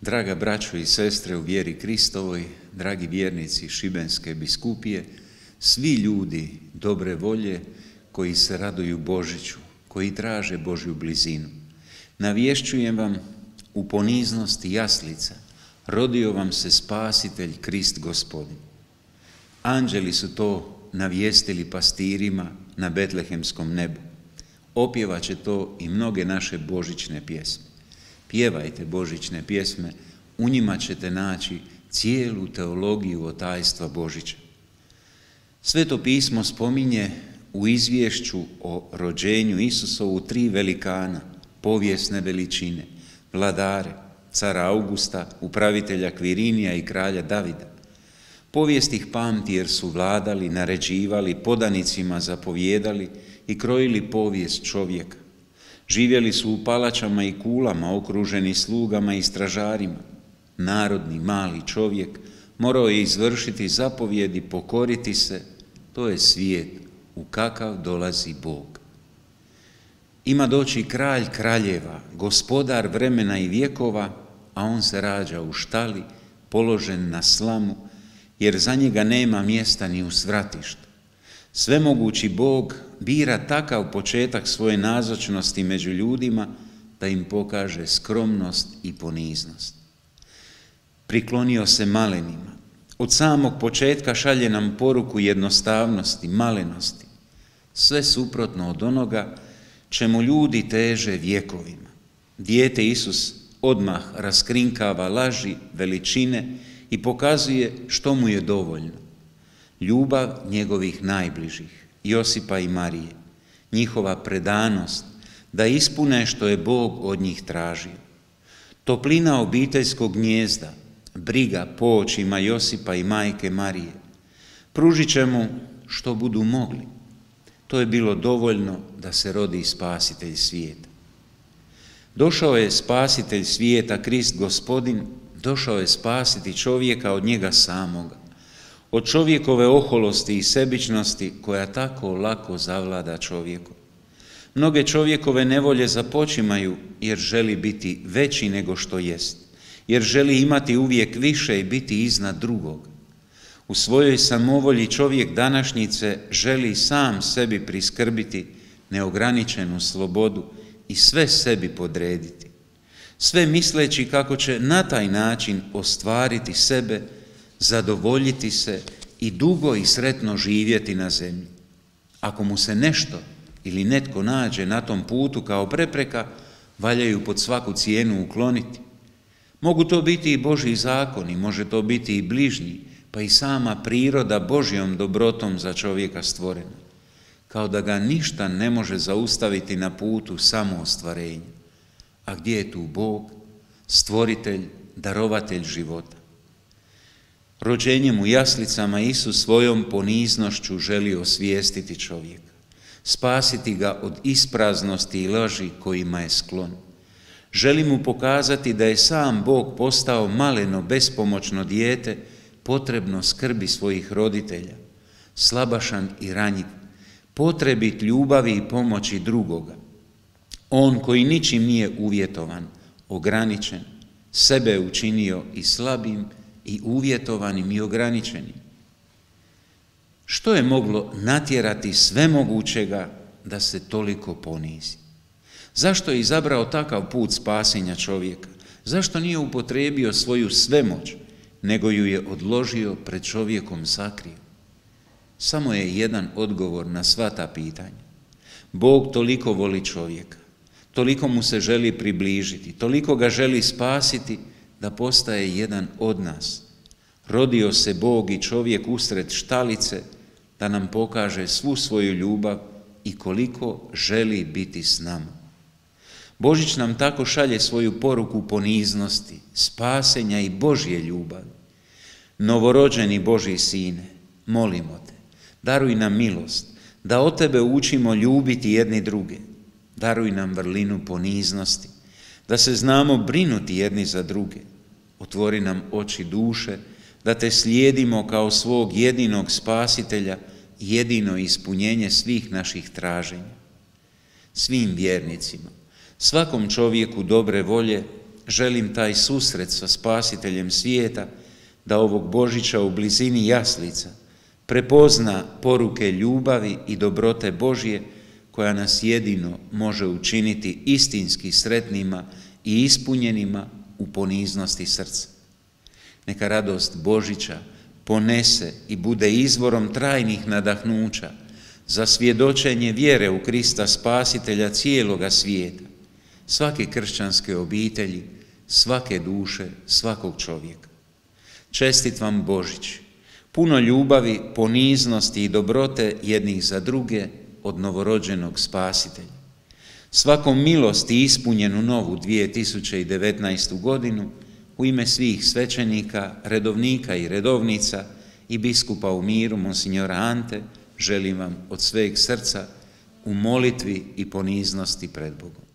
Draga braćo i sestre u vjeri Kristovoj, dragi vjernici Šibenske biskupije, svi ljudi dobre volje koji se raduju Božiću, koji traže Božju blizinu, navješćujem vam u poniznosti jaslica, rodio vam se Spasitelj Krist Gospodin. Anđeli su to navijestili pastirima na betlehemskom nebu. Opjevaće to i mnoge naše božićne pjesme. Pjevajte božićne pjesme, u njima ćete naći cijelu teologiju tajstva Božića. Sveto pismo spominje u izvješću o rođenju Isusovu 3 velikana, povijesne veličine, vladare, cara Augusta, upravitelja Kvirinija i kralja Davida. Povijest ih pamti jer su vladali, naređivali, podanicima zapovjedali i krojili povijest čovjeka. Živjeli su u palačama i kulama, okruženi slugama i stražarima. Narodni, mali čovjek morao je izvršiti zapovjedi, pokoriti se. To je svijet u kakav dolazi Bog. Ima doći kralj kraljeva, gospodar vremena i vjekova, a on se rađa u štali, položen na slamu, jer za njega nema mjesta ni u svratištu. Svemogući Bog bira takav početak svoje nazočnosti među ljudima da im pokaže skromnost i poniznost. Priklonio se malenima. Od samog početka šalje nam poruku jednostavnosti, malenosti. Sve suprotno od onoga čemu ljudi teže vjekovima. Dijete Isus odmah raskrinkava laži, veličine i pokazuje što mu je dovoljno. Ljubav njegovih najbližih, Josipa i Marije, njihova predanost da ispune što je Bog od njih tražio. Toplina obiteljskog gnijezda, briga po očima Josipa i majke Marije, pružit će mu što budu mogli. To je bilo dovoljno da se rodi Spasitelj svijeta. Došao je Spasitelj svijeta, Krist Gospodin, došao je spasiti čovjeka od njega samoga, od čovjekove oholosti i sebičnosti koja tako lako zavlada čovjekom. Mnoge čovjekove nevolje započimaju jer želi biti veći nego što jest, jer želi imati uvijek više i biti iznad drugog. U svojoj samovolji čovjek današnjice želi sam sebi priskrbiti neograničenu slobodu i sve sebi podrediti, sve misleći kako će na taj način ostvariti sebe, zadovoljiti se i dugo i sretno živjeti na zemlji. Ako mu se nešto ili netko nađe na tom putu kao prepreka, valja ju pod svaku cijenu ukloniti. Mogu to biti i Božji zakoni, može to biti i bližnji, pa i sama priroda Božjom dobrotom za čovjeka stvorena, kao da ga ništa ne može zaustaviti na putu samoostvarenja. A gdje je tu Bog, stvoritelj, darovatelj života? Rođenjem u jaslicama Isus svojom poniznošću želi osvijestiti čovjeka, spasiti ga od ispraznosti i laži kojima je sklon. Želi mu pokazati da je sam Bog postao maleno, bespomoćno dijete, potrebno skrbi svojih roditelja, slabašan i ranjiv, potrebit ljubavi i pomoći drugoga. On koji ničim nije uvjetovan, ograničen, sebe učinio i slabim, i uvjetovanim i ograničenim. Što je moglo natjerati svemogućega da se toliko ponizi? Zašto je izabrao takav put spasenja čovjeka? Zašto nije upotrijebio svoju svemoć, nego ju je odložio pred čovjekom sakrio? Samo je jedan odgovor na sva ta pitanja. Bog toliko voli čovjeka, toliko mu se želi približiti, toliko ga želi spasiti, da postaje jedan od nas. Rodio se Bog i čovjek usred štalice da nam pokaže svu svoju ljubav i koliko želi biti s nama. Božić nam tako šalje svoju poruku poniznosti, spasenja i Božje ljubavi. Novorođeni Božji sine, molimo te, daruj nam milost, da od tebe učimo ljubiti jedni druge. Daruj nam vrlinu poniznosti, da se znamo brinuti jedni za druge. Otvori nam oči duše, da te slijedimo kao svog jedinog spasitelja i jedino ispunjenje svih naših traženja. Svim vjernicima, svakom čovjeku dobre volje želim taj susret sa Spasiteljem svijeta, da ovog Božića u blizini jaslica prepozna poruke ljubavi i dobrote Božje, koja nas jedino može učiniti istinski sretnima i ispunjenima u poniznosti srca. Neka radost Božića ponese i bude izvorom trajnih nadahnuća za svjedočenje vjere u Krista Spasitelja cijeloga svijeta, svake kršćanske obitelji, svake duše, svakog čovjeka. Čestit vam Božić, puno ljubavi, poniznosti i dobrote jednih za druge od novorođenog Spasitelja. Svakom milosti ispunjenu novu 2019. godinu u ime svih svećenika, redovnika i redovnica i biskupa u miru, monsignora Ante, želim vam od sveg srca u molitvi i poniznosti pred Bogom.